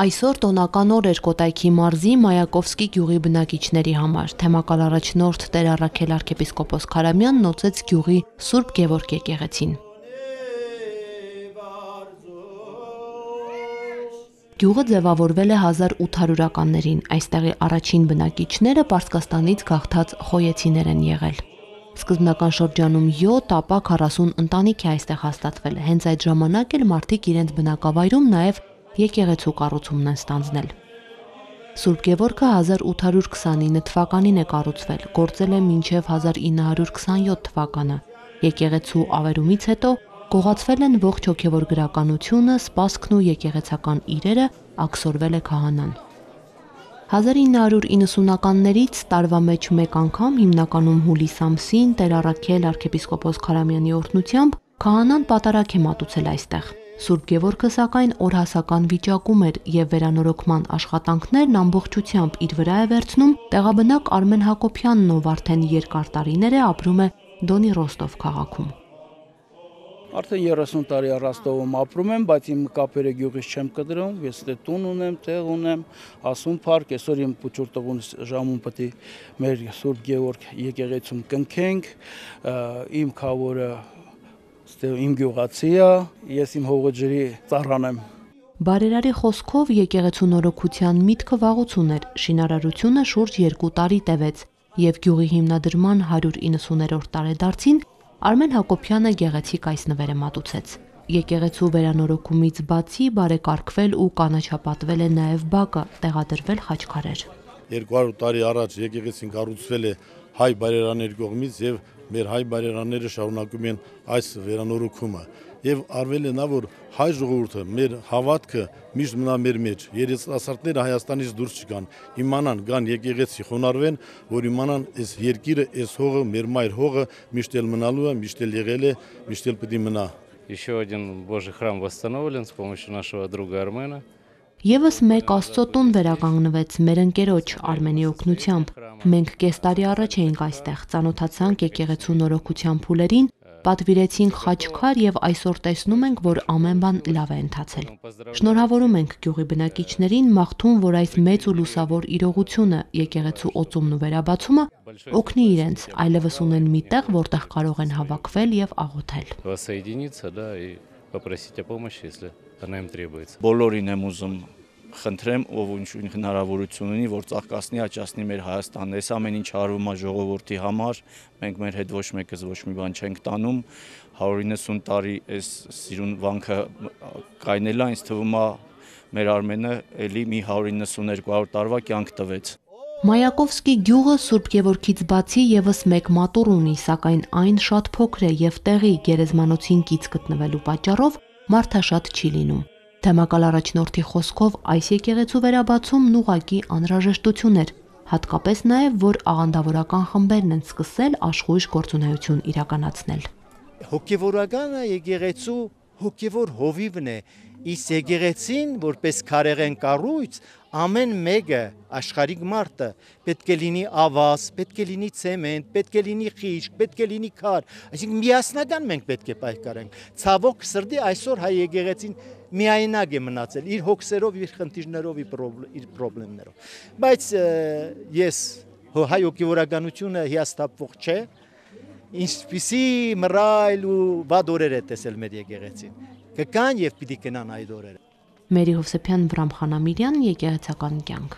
Այսօր տոնական օր էր Կոտայքի մարզի Մայակովսկի գյուղի բնակիչների համար։ Թեմակալ առաջնորդ Տեր Առաքել arczepiskopos Քարամյանն նոծեց գյուղի Սուրբ Գևորգ եկեղեցին։ Գյուղը ձևավորվել է 1800-ականներին, այստեղի առաջին բնակիչները Պարսկաստանից գաղթած խոյեցիներ են եղել։ Սկզբնական շրջանում 7, ապա 40 ընտանիք է այստեղ հաստատվել, հենց այդ ժամանակ էլ մարդիկ իրենց բնակավայրում նաև եկեղեցու կառուցումն են ստանձնել։ Սուրբ Գևորգը 1829 թվականին է կառուցվել, գործել է մինչև 1927 թվականը։ Եկեղեցու ավերումից հետո գողացվել են ողջ հոգևոր գրականությունը, սպասքն ու եկեղեցական իրերը, աքսորվել է քահանան։ 1990-ականներից տարվա մեջ մեկ անգամ, հիմնականում հուլիս ամսին, Տեր Առաքել arczepiskopos Քարամյանի օրհնությամբ քահանան պատարագ է մատուցել այստեղ։ Սուրբ Գևորգը սակայն օրհասական վիճակում էր եւ վերանորոգման աշխատանքներն ամբողջությամբ իր վրա է վերցնում տեղաբնակ Արմեն Հակոբյանն, ով արդեն երկար տարիներ է ապրում է Դոնի Ռոստով քաղաքում։ Արդեն 30 տարի Ռոստովում ապրում եմ, բայց իմ կապերը գյուղից չեմ կտրում, ես դե տուն ունեմ, տեղ ունեմ, ասում փառք, այսօր իմ փուչուրտողուն ժամում պետք է մեր Սուրբ Գևորգ եկեղեցում կնքենք, իմ քավորը իմ գյուղացի է, ես իմ հողը ջրի ծառան եմ։ Բարերարի խոսքով եկեղեցու նորոգության միտքը վաղուց ուներ, շինարարությունը շուրջ 2 տարի տևեց եւ գյուղի հիմնադրման 190-րդ տարեդարձին Արմեն Հակոբյանը գեղեցիկ այս նվերը մատուցեց։ Եկեղեցու վերանորոգումից բացի բարեկարգվել ու կանաչապատվել է նաև բակը, տեղադրվել խաչքարեր։ 200 տարի առաջ եկեղեցին կառուցվել է հայ բարերանների կողմից եւ մեր հայ բարերանները շարունակում են այս վերանորոգումը եւ արվել է նա, որ հայ ժողովուրդը մեր հավատքը միշտ մնա մեր մեջ, երիտասարդները Հայաստանից դուրս չգան, իմանան գան եկեղեցի խոնարհվեն, որ իմանան այս երկիրը, այս հողը, մեր մայր հողը միշտ էլ մնալու է, միշտ էլ եղել է, միշտ էլ պետք է մնա։ Еще один Божий храм восстановлен с помощью нашего друга Армена. Եվս մեկ Աստծո տուն վերականգնվեց մեր ընկերոջ Արմենի օգնությամբ։ Մենք կես տարի առաջ էինք այստեղ, ծանոթացանք եկեղեցու նորոգության փուլերին, պատվիրեցինք խաչքար եւ այսօր տեսնում ենք, որ ամեն բան լավ է ընթացել։ Շնորհավորում ենք գյուղի բնակիչներին, մաղթում, որ այս մեծ ու լուսավոր իրողությունը, եկեղեցու օծումն ու վերաբացումը օգնի իրենց, այլևս ունեն մի տեղ, որտեղ կարող են հավաքվել եւ աղոթել։ Попросить о помощи, если она им требуется. Բոլորին եմ ուզում խնդրեմ, ով ինչ հնարավորություն ունի, որ ծաղկացնի, աճացնի մեր Հայաստանը։ Այս ամեն ինչ արվում է ժողովրդի համար, մենք մեր հետ ոչ մեկս ոչ մի բան չենք տանում։ 190 տարի այս սիրուն վանքը կայնել է, ինձ թվում է մեր Արմենը էլի մի 190-200 տարվա կյանք տվեց։ Մայակովսկի գյուղը Սուրբ Գևորգից բացի եւս մեկ մատուռ ունի, սակայն այն շատ փոքր է եւ տեղի գերեզմանոցին կից գտնվելու պատճառով մարդաշատ չի լինում։ Թեմակալ առաջնորդի խոսքով այս եկեղեցու վերաբացումն ուղղակի անհրաժեշտություն էր, հատկապես նաեւ որ աղանդավորական խմբերն են սկսել աշխույժ գործունեություն իրականացնել։ Հոգևորականը եկեղեցու հոգևոր հովիվն է, իսկ եկեղեցին որպես քարեղեն կառույց ամեն մեկը աշխարհիկ մարդը պետք է լինի ավազ, պետք է լինի ցեմենտ, պետք է լինի խիճ, պետք է լինի քար, այսինքն միասնական մենք պետք է պայքարենք։ Ցավոք սրտի այսօր հայ եկեղեցին միայնակ է մնացել իր հոգսերով, իր խնդիրներով, իր խնդիրներով։ Բայց ես հայ հոգևորականությունը հիասթափվող չէ, ինչպիսի մռայլ ու վատ օրեր է տեսել մեր եկեղեցին։ Կգան եւ պիտի գնան այդ օրերը։ Մերի Հովսեփյան, Վրամ Խանամիրյան, եկեղեցական կյանք։